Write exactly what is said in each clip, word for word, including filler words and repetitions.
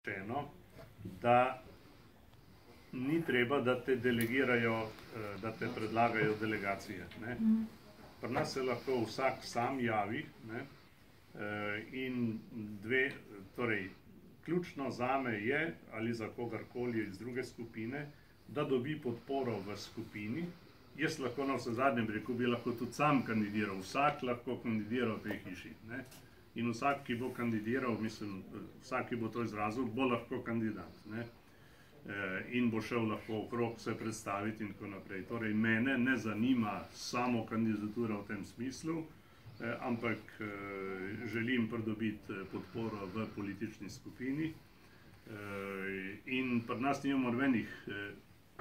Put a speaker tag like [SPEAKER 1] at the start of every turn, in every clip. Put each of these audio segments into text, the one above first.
[SPEAKER 1] rečeno, da ni treba, da te delegirajo, da te predlagajo delegacije. Ne? Pri nas se lahko vsak sam javi, ne? In dve, torej, ključno zame je, ali za kogarkoli iz druge skupine, da dobi podporo v skupini. Jaz lahko na vse zadnjem reku bi lahko tudi sam kandidiral, vsak lahko kandidiral v tej hiši. Ne? In vsak, ki bo kandidiral, mislim, vsak, ki bo to izrazil, bo lahko kandidat. Ne? In bo šel lahko okrog se predstaviti in tako naprej. Torej, mene ne zanima samo kandidatura v tem smislu, ampak želim pridobiti podporo v politični skupini. In pri nas nimamo nobenih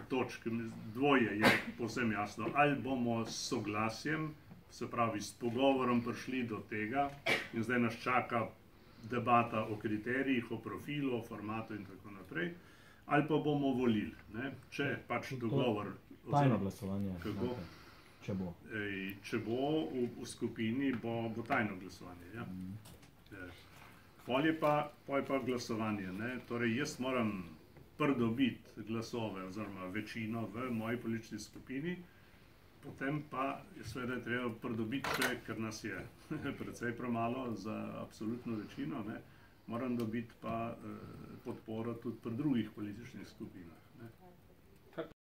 [SPEAKER 1] točk, dvoje je povsem jasno. Ali bomo s soglasjem, se pravi s pogovorom prišli do tega in zdaj nas čaka debata o kriterijih, o profilu, o formatu in tako naprej, ali pa bomo volili, ne? Če pač dogovor...
[SPEAKER 2] Tajno glasovanje.
[SPEAKER 1] Kako?
[SPEAKER 2] Če bo.
[SPEAKER 1] Ej, če bo v, v skupini, bo, bo tajno glasovanje. Ja? Mm. Pol je pa, pol je pa glasovanje. Ne? Torej, jaz moram pridobiti glasove oziroma večino v moji politični skupini, potem pa seveda je treba pridobiti še, ker nas je precej premalo za absolutno večino, ne? Moram dobiti pa eh, podporo tudi pri drugih političnih skupinah. Ne?